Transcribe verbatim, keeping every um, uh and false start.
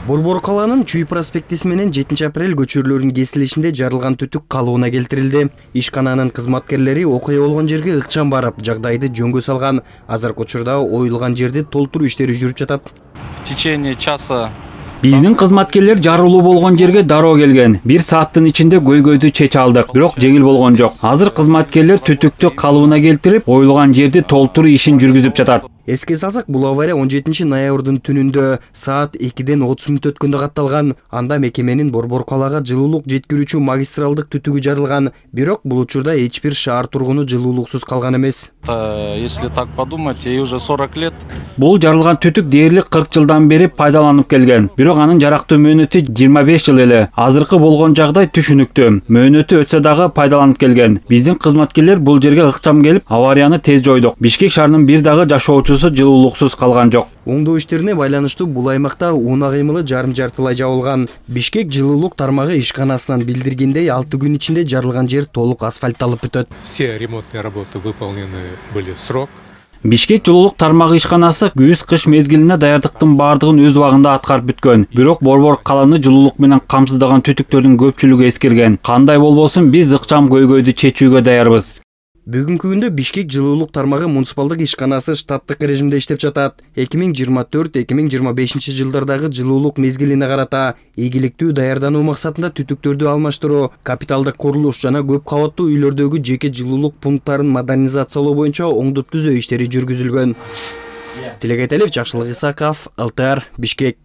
Борбор калаанын Чүй проспектиси менен жетинчи апрель көчөрлөрүнүн кесилишинде жарылган түтүк калыбына келтирилди. Ишкананын кызматкерлери окуя болгон жерге ыкчам барып, жагдайды жөнгө салган. Азыркы учурда оюлган жерди толтуруу иштери жүрүп жатат. В течение часа Биздин кызматкерлер жарылуу болгон жерге дароо келген. Бир сааттын ичинде көйгөйдү чече алдык, бирок жеңил болгон жок. Азыр кызматкерлер түтүктү калыбына келтирип, оюлган жерди толтуруу ишин жүргүзүп жатат. Эске салсак, бул авария он жетинчи ноябрдын түнүндө саат экиден отуз мүнөт өткөндө катталган. Анда мекеменин Борбор калаага жылуулук жеткирүүчү магистралдык түтүгү жарылган. Бирок бул учурда эч бир шаар тургуну жылуулуксуз калган эмес. Если так подумать, ей уже сорок лет. Бул жарылган түтүк дээрлик кырк жылдан бери пайдаланып келген. Бирок анын жарактуу мөөнөтү жыйырма беш жыл эле. Азыркы болгон жагдай түшүнүктүү. Мөөнөтү өтсө дагы пайдаланып келген. Биздин кызматкерлер бул жерге ыкчам келип, аварияны тез жойдук. Бишкек шаарынын бир дагы жашоочусу жылуулуксуз калган жок. Оңдоо иштерине байланыштуу бул аймакта унаа кыймылы жарым-жартылай жабылган. Бишкек жылуулук тармагы ишканасынан билдиргендей, алты күн ичинде жарылган жер толук асфальтталып бүтөт. Все ремонтные работы выполнены были в срок. Бишкек жылуулук тармагы ишканасы күз-кыш мезгилине даярдыктын баардыгын өз убагында аткарып бүткөн. Бирок Борбор калааны жылуулук менен камсыздаган түтүктөрдүн көпчүлүгү эскерген. Кандай болбосун, биз ыкчам көйгөйдү чечүүгө даярбыз. Бүгүнкү күндө Бишкек жылуулук тармагы муниципалдык ишканасы штаттык режимде иштеп жатат. эки миң жыйырма төрт эки миң жыйырма бешинчи жылдардагы жылуулук мезгилине карата ийгиликтүү даярдануу максатында түтүктөрдү алмаштыруу, капиталдык курулуш жана көп кабаттуу үйлөрдөгү жеке жылуулук пункттарын модернизациялоо боюнча оңдоп түзөө иштери жүргүзүлгөн. Тилекетелев, Жакшылык Исаков, эл тэ эр, Бишкек.